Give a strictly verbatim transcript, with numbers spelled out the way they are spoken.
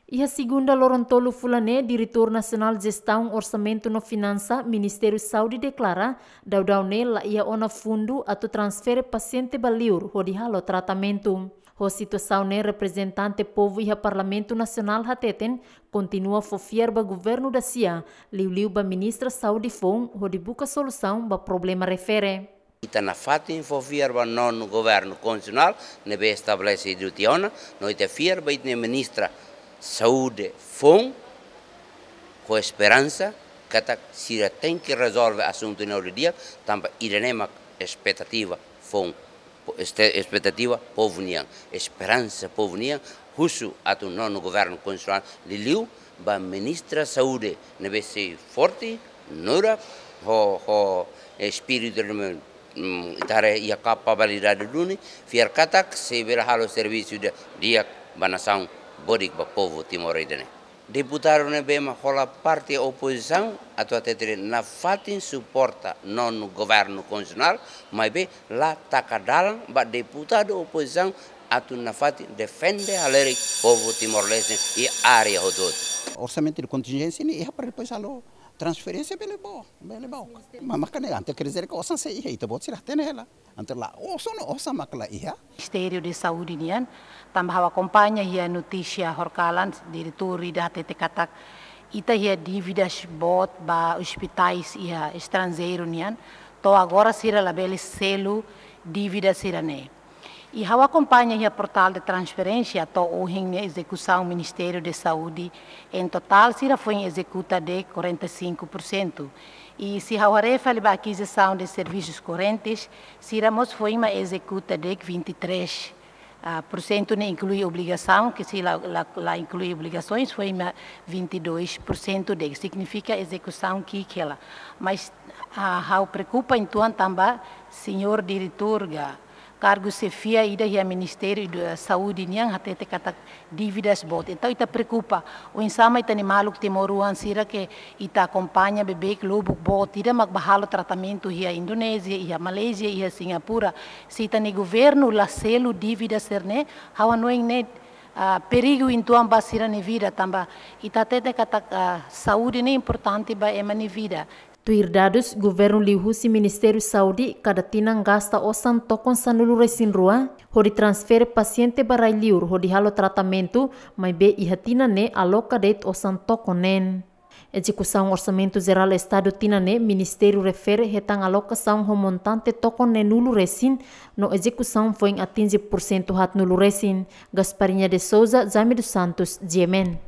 Iha segunda loron tolu fulan ne'e, Diretór Nasionál Jestaun Orsamentu no Finansa, Ministériu Saúde deklara, daudaun ne'e la iha ona fundu atu transfere pasiente ba liur hodi halo tratamentu. Ho situasaun ne'e, reprezentante povu iha Parlamentu Nasionál hateten, kontinua fó fiar ba governu dasia, liuliu ba Ministra Saúde foun, hodi buka solusaun ba problema refere. Ita nafatin fó fiar ba nonu governu konstitusionál ne'ebé estabelese tiha ona, no ita fiar ba ita-nia Ministra Saúde foun, ho esperansa katak sira tenke rezolve asuntu ne'e hodi di'ak, tanba ida-ne'e mak espetativa foun, este-, espetativa povu nian, esperansa povu nian, husu atu nonu governu konstitusionál, liuliu ba Ministra Saúde ne'ebé sei forte, nurak, ho, ho espíritu de, mm, ita haree iha kapasidade duni, fiar katak sei bele halo servisu ida di'ak ba nasaun, bodik ba povu Timor ida-ne'e. Deputadu ne'ebé mak hola parte opozisaun atu hatete de'it nafatin suporta nonu governu konstitusionál, maibé la taka dalan ba deputadu opozisaun atu nafatin defende halerik povu Timor-Leste iha área hotu-hotu. Orsamentu de kontinjénsia ne'e iha para depois halo transferénsia bele boot, bele boot. Mas, mas kan antes quer dizer que osan sei iha, ita-boot sira hatene hela. Antes la, osan no osan mak la iha. Ministériu de Saúde nian, tanba ha'u akompaña iha notísia horikalan, diretór ida hatete katak ita iha dívidas boot ba ospitais iha estranjeiru nian, to'o agora sira labele selu dívida sira-ne'e. I ha'u akompaña iha portál de transferénsia to'o ohin ne'e ezekusaun Ministériu de Saúde, en totál sira foin ezekuta de'it quarenta e cinco por cento. I se ha'u haree fali ba akizisaun de servisus korrentes, sira mós foin mak ezekuta de'it vinte e três, ah, por cento ne'e inklui obrigasaun, ke se la, la, la inklui obrigasoens, foin mak vinte e dois por cento de'it, signifika ezekusaun ki'ik hela. Mas, ah, ha'u preokupa uitoan tanba señór diretór ka kargu xefia ida iha Ministériu de Saúde nian hatete katak dívidas boot. Entaun ita preokupa, oinsá mak ita-nia maluk timoroan sira ke ita akompaña beibeik lubuk boot ida mak bá halo tratamentu iha Indonézia, iha Malázia, iha Singapura. Se ita-nia governu la selu dívida sira-ne'e, ha'u hanoin ne'e, ah, perigu uitoan ba sira-nia vida tanba ita hatene katak, ah, saúde ne'e importante ba ema nia vida. Tuir dadus governu liuhusi Ministériu Saúde, kada tinan gasta osan tokon sanulu-resin-rua hodi transfere pasiente ba rai-liur hodi halo tratamentu, maibé iha tinan ne'e aloka de'it osan tokon neen. Ezekusaun Orsamentu Jerál Estadu tinan ne'e, ministériu refere hetan alokasaun ho montante tokon neenulu-resin, no ezekusaun foin atinje porsentu haatnulu-resin. Gasparinha de Souza, Jaime dos Santos, G M N.